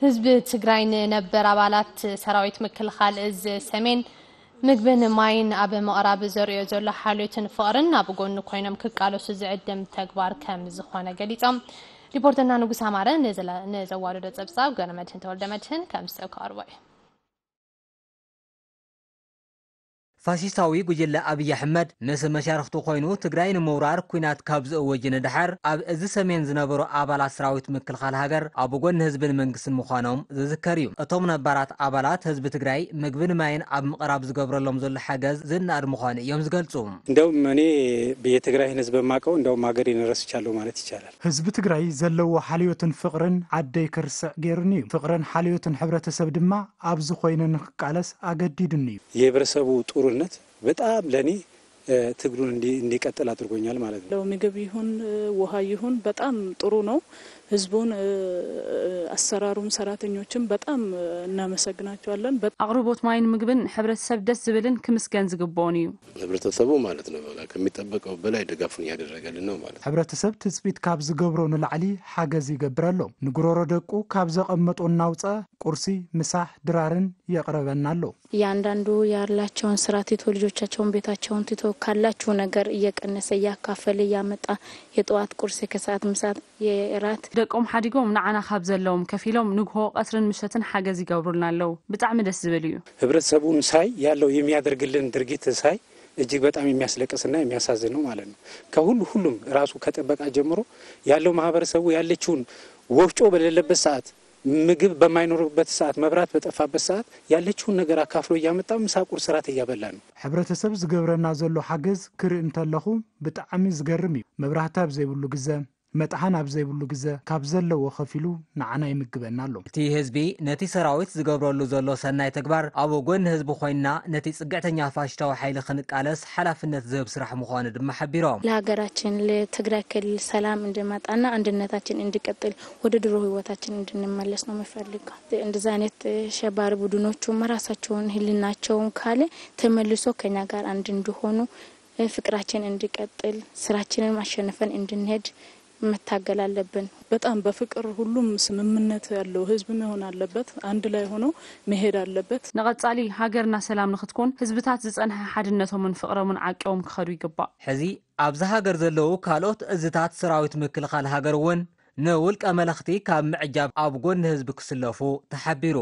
ህዝቢ ትግራይ ንነበር ኣባላት ሰራዊት ምክልኻል እዝ ሰሜን ምግብን ማይን ኣብ ምቕራብ ዘርእዮ ዘሎ ሓልዮትን ፍቕርን ኣብ ጎኑ ኮይኖም ክቃለሱ ዝዕድም ተግባር ከም ዝኾነ ገሊጾም። ሪፖርተርና ንጉስ ኣማረ ንዘለ-፣ ንዘዋደዶ ጸብጻብ ገብረ መድህን ተወልደ መድህን ከም ዝስዕብ ክቐርቦ እዩ። ፋሽስታዊ ጉጅለ ኣብይ ኣሕመድ ምስ መሻርኽቱ ኮይኑ ትግራይ ንምውራር ኲናት ካብ ዝእወጅ ንድሓር ኣብ እዚ ሰሜን ዝነበሩ ኣባላት ሰራዊት ምክልኻል ሃገር ኣብ ጎኒ ህዝብን መንግስትን ምዃኖም ዝዝከር እዩ። እቶም ነባራት ኣባላት ህዝቢ ትግራይ ምግብን ማይን ኣብ ምቕራብ ዝገብረሎም ዘሎ ሓገዝ ዝነኣድ ምዃኑ እዮም ዝገልጹ። እንደውም እኔ የትግራይን ህዝብ የማቀው እንደውም ሀገሬን ረስቻለሁ ማለት ይቻላል። ህዝቢ ትግራይ ዘለዎ ሓልዮትን ፍቕርን ዓደይ ክርስዕ ገይሩኒ እዩ። ፍቕርን ሓልዮትን ሕብረተሰብ ድማ ኣብዚ ኮይነ ንክቃለስ ኣገዲዱኒ እዩ። የህብረተሰቡ ጥሩነት በጣም ለኔ ትግሉን እንዲቀጥል አድርጎኛል ማለት ነው። ለምግብ ይሁን ውሃ ይሁን በጣም ጥሩ ነው። ህዝቡን፣ አሰራሩም፣ ሰራተኞችም በጣም እናመሰግናቸዋለን። በጣም ኣቕርቦት ማይን ምግብን ሕብረተሰብ ደስ ዝብልን ክምስገን ዝግብኦን እዩ። ህብረተሰቡ ማለት ነው በቃ ከሚጠበቀው በላይ ድጋፉን እያደረገልን ነው ማለት ነው። ሕብረተሰብ ትፅቢት ካብ ዝገብሮ ንላዕሊ ሓገዝ ይገብር ኣሎ። ንጉሮሮ ደቁ ካብ ዘቐመጦ እናውፀ ቁርሲ፣ ምሳሕ፣ ድራርን የቕረበና ኣሎ። እያንዳንዱ ያላቸውን ስራ ትቶ ልጆቻቸውን ቤታቸውን ትቶ ካላችሁ ነገር እየቀነሰ እያካፈለ እያመጣ የጠዋት ቁርስ የከሰዓት ምሳት የራት ደቆም ሓዲጎም ንዓና ካብ ዘለዎም ከፊሎም ንግሆ ቀትርን ምሸትን ሓገዝ ይገብሩልና ኣለዉ። ብጣዕሚ ደስ ዝብል እዩ። ህብረተሰቡን ሳይ ያለው የሚያደርግልን ድርጊት ሳይ እጅግ በጣም የሚያስለቅስና የሚያሳዝን ነው ማለት ነው። ከሁሉ ሁሉም ራሱ ከጥበቃ ጀምሮ ያለው ማህበረሰቡ ያለችውን ወፍጮ በሌለበት ሰዓት ምግብ በማይኖርበት ሰዓት፣ መብራት በጠፋበት ሰዓት ያለችውን ነገር አካፍሎ እያመጣ ምሳ፣ ቁርስ፣ እራት እያበላ ነው። ሕብረተሰብ ዝገብረና ዘሎ ሓገዝ ክርኢ እንተለኹ ብጣዕሚ ዝገርም እዩ። መብራህቲ ኣብ ዘይብሉ ግዘ፣ መጥሓን ኣብ ዘይብሉ ግዘ ካብ ዘለዎ ከፊሉ ንዓና ይምግበና ኣሎ። እቲ ህዝቢ ነቲ ሰራዊት ዝገብረሉ ዘሎ ሰናይ ተግባር ኣብ ጎኒ ህዝቢ ኮይንና ነቲ ፅግዕተኛ ፋሽስታዊ ሓይሊ ክንቃለስ ሓላፍነት ዝህብ ስራሕ ምዃኑ ድማ ሓቢሮም። ለሀገራችን ለትግራይ ክልል ሰላም እንዲመጣና አንድነታችን እንዲቀጥል ወደ ድሮ ህይወታችን እንድንመለስ ነው የምፈልገው። እንደዚህ አይነት ሸባሪ ቡድኖቹም ራሳቸውን ህልናቸውን ካለ ተመልሶ ከኛ ጋር አንድ እንዲሆኑ ፍቅራችን እንዲቀጥል ስራችንን አሸንፈን እንድንሄድ መታገል አለብን። በጣም በፍቅር ሁሉም ስምምነት ያለው ህዝብ መሆን አለበት። አንድ ላይ ሆኖ መሄድ አለበት። ንቐጻሊ ሃገርና ሰላም ንኽትኮን ህዝብታት ዝጸንሐ ሓድነቶምን ፍቕሮምን ዓቂቦም ክኸዱ ይግባእ። ሕዚ ኣብዚ ሃገር ዘለዉ ካልኦት እዝታት ሰራዊት ምክልኻል ሃገር እውን ንውልቀ መለኽቲ ካብ ምዕጃብ ኣብ ጎኒ ህዝቢ ክስለፉ ተሓቢሩ።